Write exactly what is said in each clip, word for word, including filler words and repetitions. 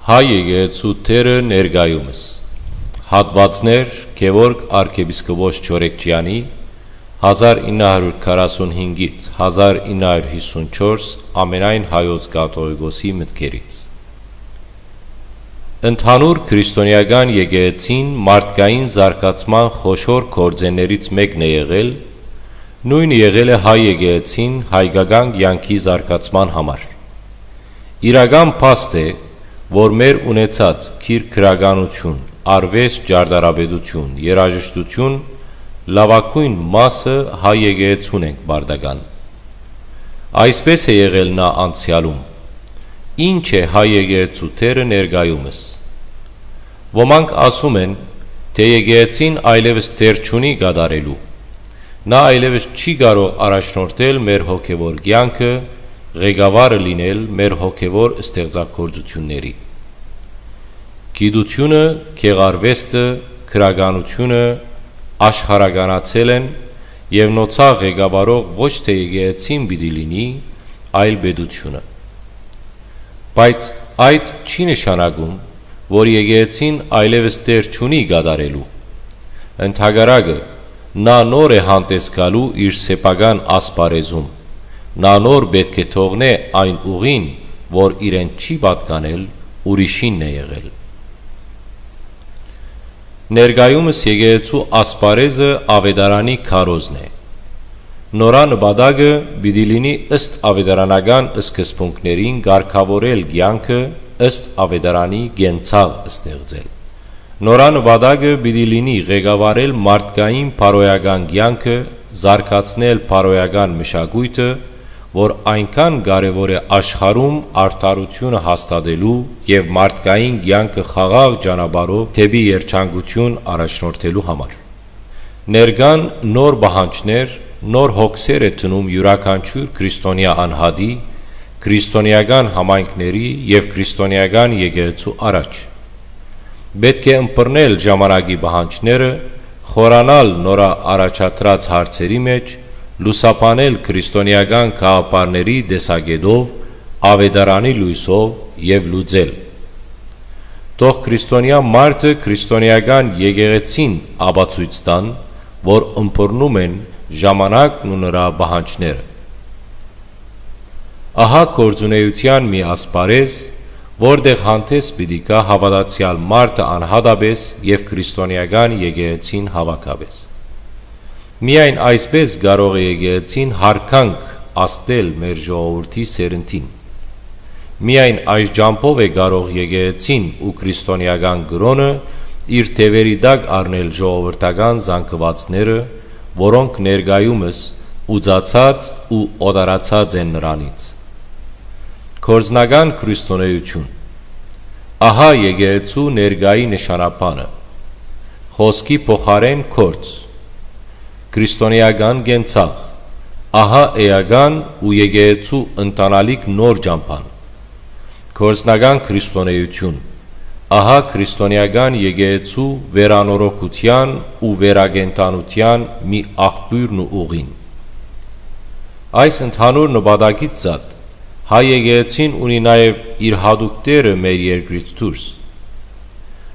Հայ եկեղեցու դերը ներկայումս։ Հատուածներ Գեորգ արքեպիսկոպոս Չորեքճեանի, հազար ինը հարիւր քառասուն հինգ հազար ինը հարիւր հիսուն չորս, ամենայն հայոց կաթողիկոսի մտքերից։ Ընդհանուր քրիստոնեական եկեղեցին մարդկային զարգացման խոշոր գործերէններից մէկն է եղել, նոյնը եղել է հայ եկեղեցին հայկական կեանքի զարգացման համար։ Իրական փաստ է, որ մեր ունեցած գիր գրականութիւն, արուեստ, ճարտարապետութիւն, երաժշտութիւն լաւագոյն մասը հայ եկեղեցուն ենք պարտական։ Այսպէս է եղել նա անցեալում։ Ի՞նչ է հայ եկեղեցու դերը ներկայումս։ Ոմանք ասում են, թէ եկեղեցին այլեւս դեր չունի կատարելու։ Նա այլեւս չի կարող առաջնորդել մեր հոգեւոր կեանքը, ղեկավարը լինել մեր հոգեւոր ստեղծագործութիւնների։ Գիտութիւնը, գեղարուեստը, գրականութիւնը աշխարհականացել են եւ նոցա ղեկավարող ոչ թէ եկեղեցին պիտի լինի, այլ պետութիւնը։ Բայց այդ չի նշանակում, որ եկեղեցին այլեւս դեր չունի կատարելու։ Ընդհակառակը, նա նոր է հանդես գալու իր սեփական ասպարեզում։ Նա նոր պէտք է թողնէ այն ուղին, որ իրեն չի պատկանել, ուրիշինն է եղել։ Ներկայումս եկեղեցու ասպարեզը Աւետարանի քարոզն է։ Նորա նպատակը պիտի լինի ըստ աւետարանական սկզբունքներին կարգաւորել կեանքը, ըստ Աւետարանի կենցաղ ստեղծել։ Նորա նպատակը պիտի լինի ղեկավարել մարդկային բարոյական կեանքը, զարգացնել բարոյական մշակոյթը, որ այնքան կարեւոր է աշխարհում արդարութիւնը հաստատելու եւ մարդկային կեանքը խաղաղ ճանապարհով դէպի երջանկութիւն առաջնորդելու համար։ Ներկան նոր պահանջներ, նոր հոգսեր է դնում իւրաքանչիւր քրիստոնեայ անհատի, քրիստոնեական համայնքների եւ քրիստոնեական եկեղեցու առաջ։ Պէտք է ըմբռնել ժամանակի պահանջները, խորանալ նորա առաջադրած հարցերի մէջ, լուսաբանել քրիստոնեական գաղափարների տեսակէտով, Աւետարանի լոյսով եւ լուծել։ Թող քրիստոնեայ մարդը քրիստոնեական եկեղեցին ապացոյց տան, որ ըմբռնում են ժամանակն ու նրա պահանջները։ Ահա գործունէութեան մի ասպարեզ, որտեղ հանդես պիտի գայ հաւատացեալ մարդը անհատապէս եւ քրիստոնեական եկեղեցին հաւաքապէս։ Միայն այսպէս կարող է եկեղեցին յարգանք ազդել մեր ժողովրդի սերնդին։ Միայն այս ճամբով է կարող եկեղեցին ու քրիստոնեական կրօնը իր թեւերի տակ առնել ժողովրդական զանգուածները, որոնք ներկայումս ուծացած ու օտարացած են նրանից։ Գործնական քրիստոնէութիւն։ Ահա եկեղեցու ներկայի նշանաբանը։ Խօսքի փոխարէն գործ։ Քրիստոնեական կենցաղ։ Ահա էական ու եկեղեցու ընտանալիք նոր ճամբան։ Գործնական քրիստոնէութիւն։ Ահա քրիստոնեական եկեղեցու վերանորոգութեան ու վերակենդանութեան մի աղբիւրն ու ուղին։ Այս ընդհանուր նպատակից զատ, հայ եկեղեցին ունի նաեւ իր յատուկ դերը մեր երկրից դուրս։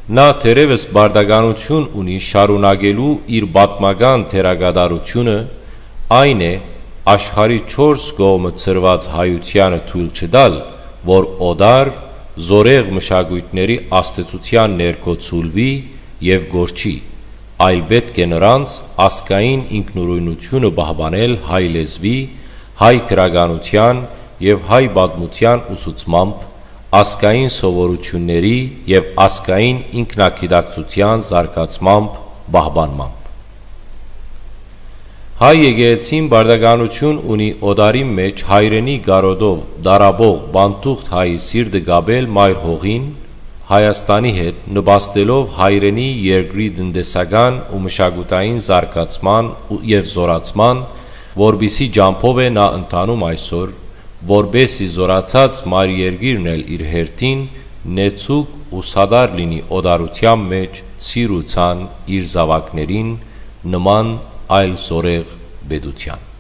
Նա թերեւս պարտականութիւն ունի շարունակելու իր պատմական դերակատարութիւնը, այն է, աշխարհի չորս կողմը ցրուած հայութեանը թոյլ չտալ, որ օտար, զորեղ մշակոյթների ազդեցութեան ներքո ցուլուի եւ կորչի, այլ պէտք է նրանց ազգային ինքնուրոյնութիւնը պահպանել հայ լեզուի, հայ գրականութեան եւ հայ պատմութեան ուսուցմամբ, ազգային սովորութիւնների եւ ազգային ինքնագիտակցութեան զարգացմամբ, պահպանմամբ։ Հայ եկեղեցին պարտականութիւն ունի օտարի մէջ հայրենի կարօտով տարապող պանթուղթ հայի սիրտը կապել մայր հողին, Հայաստանի հետ, նպաստելով հայրենի երկրի տնտեսական ու մշակութային զարգացման ու, եւ զորացման, որպիսի ճամբով է նա ընթանում այսօր, որպեսզի զորացած մայր երկիրն էլ իր հերթին նեցուկ ու սատար լինի օտարութեան մէջ, ցիր ու ցան իր զաւակներին, նման այլ զորեղ պետութեան։